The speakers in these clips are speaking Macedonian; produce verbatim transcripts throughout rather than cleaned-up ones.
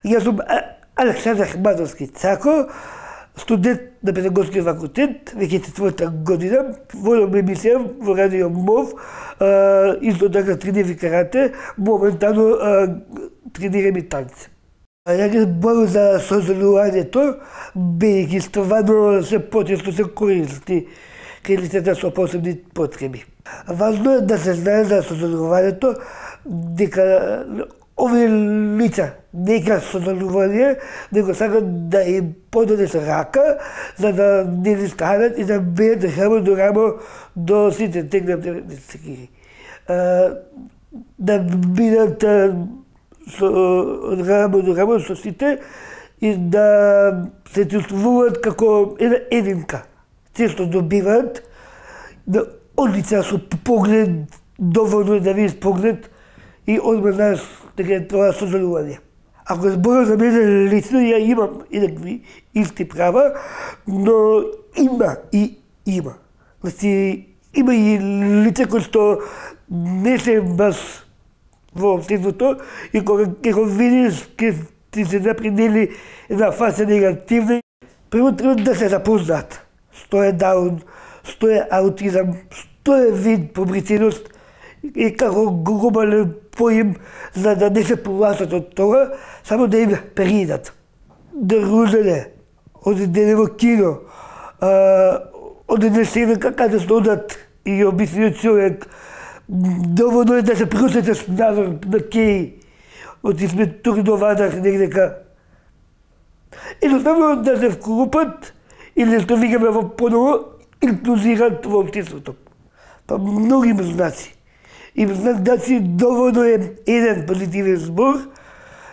Јас сум Александар Хмановски Цако, студент на Педагошки факултет, веќе четврта година, водам емисија во Радио МОВ, исто така тренирам карате, моментално тренирам и танци. Ја ги зборам за сознавањето, бидејќи стварно се почесто се користи кај лицата со посебни потреби. Важно е да се знае за сознавањето дека овие лица нека сознавање, него сакат да им подадеш рака, за да не ни станат и да бидат рамо до рамо до сите тегнати секири. Да бидат рамо до рамо со сите и да се чувствуваат како една единка. Често добиваат да одлица со поглед, доволно да видиш поглед и одма знаеш дека е тоа сознавање. Ако зборам за мене лично, ја имам еднакви исти права, но има и има. Значи, има и лица кои што не се баш во општеството и кога ќе го видиш, ќе ти се напредели една фаса негативна. Прво треба да се запознаат. Што е даун, што е аутизам, што е вид побриценост и како глобален поим, за да не се повласат од тоа, само да им перидат. Дружење, одене во кино, одене се каде што одат и обичниот човек, доволно е да се просетеш назор на кеј, оти сме тук до вадах негдека. Едноставно да се вклупат или што викаме во поново, инклузират во општеството. Па многи им знаци. Им знаци доволно е еден позитивен збор,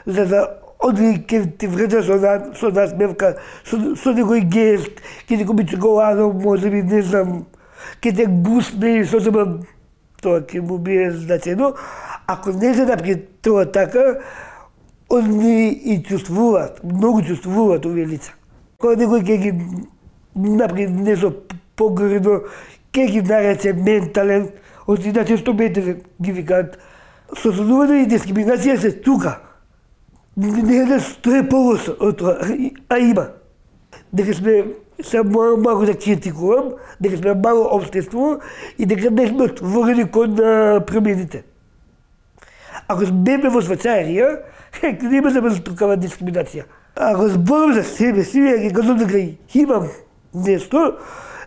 за да оди ке ти вреда со, на, со насмевка, со, со некој гест, ке ти купи чоколадо, може би, не знам, ке те гусне, со сема, тоа ке му бие значено. Ако не се напред тоа така, они и чувствуваат, многу чувствуваат овие лица. Кога некој ке ги напред нешто погредно, ке ги нарече ментален, од иначе што ментален ги викаат. Сознавање и дискриминација се тука. Не е да стои полосо од тоа, а има. Дека сме се мора малку да критикувам, дека сме мало општество и дека не сме отворени кон промените. Ако сме во Швајцарија, нема да ме такава дискриминација. Ако зборам за себе си, ја ги кажам дека имам нешто,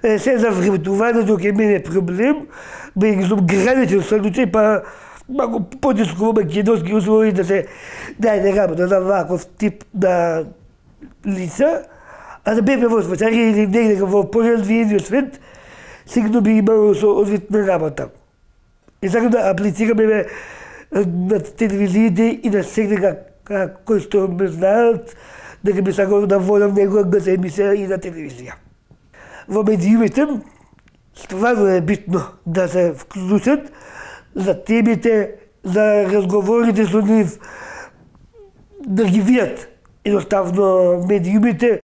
се за времетувањето ке мене проблем, бидејќи сум граничен случај, па малку потеско во македонски услови да се дајде работа за ваков тип на лица, а да бевме во Швајцарија или негде во поразвиениот свет, сигурно би имало со одвитна работа. И сакам да аплицираме на телевизиите и на секој кој што ме знаат, дека би сакал да водам некоја емисија и на телевизија. Во медиумите стварно е битно да се вклучат за темите, за разговорите со нив, да ги видат. Едноставно медиумите